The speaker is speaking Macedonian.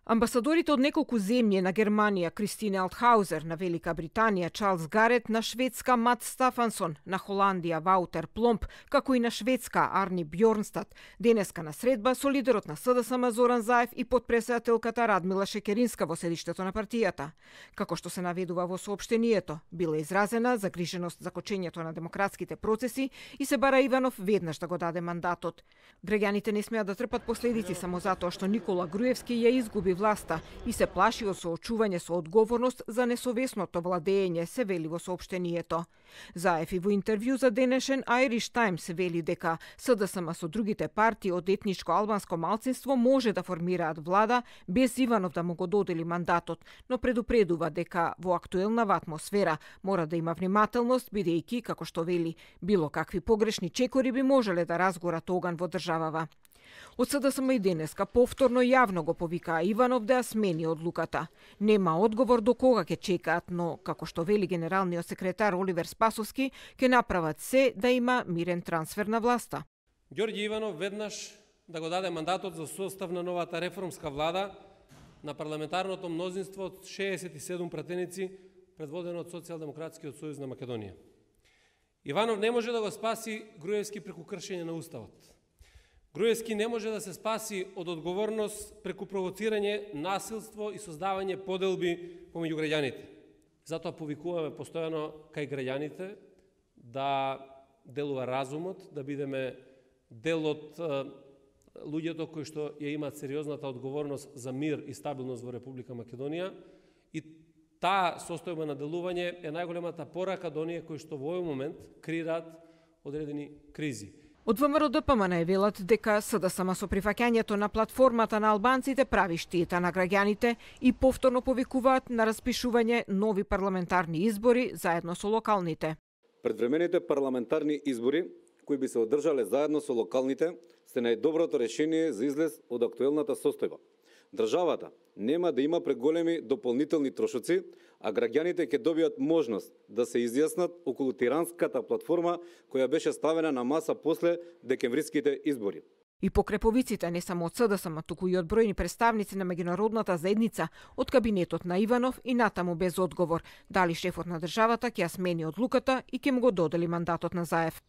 Амбасадорите од неколку земји на Германија, Кристине Алтхаузер, на Велика Британија, Чарлс Гарет, на Шведска, Мат Стафансон, на Холандија, Ваутер Пломп, како и на Шведска, Арни Бјорнстад, денеска на средба со лидерот на СДСМ Зоран Заев и потпредседателката Радмила Шекеринска во седиштето на партијата. Како што се наведува во соопштението, била изразена загриженост за кочењето на демократските процеси и се бара Иванов веднаш да го даде мандатот. Граѓаните не смеат да трпат последици само затоа што Никола Груевски ја изгуби власта и се плаши од соочување со одговорност за несовесното владење, се вели во соопштението. Заев и во интервју за денешен Irish Times вели дека СДСМ со другите партии од етничко албанско малцинство може да формираат влада без Иванов да му го додели мандатот, но предупредува дека во актуелнава атмосфера мора да има внимателност, бидејќи, како што вели, било какви погрешни чекори би можеле да разгорат оган во државава. Од СДСМ и денеска повторно јавно го повикаа Иванов да ја смени одлуката. Нема одговор до кога ќе чекаат, но, како што вели генералниот секретар Оливер Спасовски, ќе направат се да има мирен трансфер на власта. Ѓорѓе Иванов веднаш да го даде мандатот за состав на новата реформска влада на парламентарното мнозинство од 67 пратеници, предводено од Социјалдемократскиот сојуз на Македонија. Иванов не може да го спаси Груевски преку кршење на Уставот. Груевски не може да се спаси од одговорност преку провоцирање, насилство и создавање поделби помеѓу граѓаните. Затоа повикуваме постојано кај граѓаните да делува разумот, да бидеме дел од луѓето кои што ја имаат сериозната одговорност за мир и стабилност во Република Македонија, и таа состојба на делување е најголемата порака до оние кои што во овој момент креираат одредени кризи. Од ВМРО ДПМН велат дека СДСМ со прифаќањето на платформата на албанците прави штета на граѓаните и повторно повикуваат на распишување нови парламентарни избори заедно со локалните. Предвремените парламентарни избори кои би се одржале заедно со локалните се најдоброто решение за излез од актуелната состојба. Државата нема да има преголеми дополнителни трошоци, а граѓаните ќе добијат можност да се изјаснат околу тиранската платформа која беше ставена на маса после декемвриските избори. И покреповиците не само од СДСМ, туку и од бројни представници на меѓународната заедница, од кабинетот на Иванов и натаму без одговор, дали шефот на државата ќе ја смени одлуката и ќе му го додели мандатот на Заев.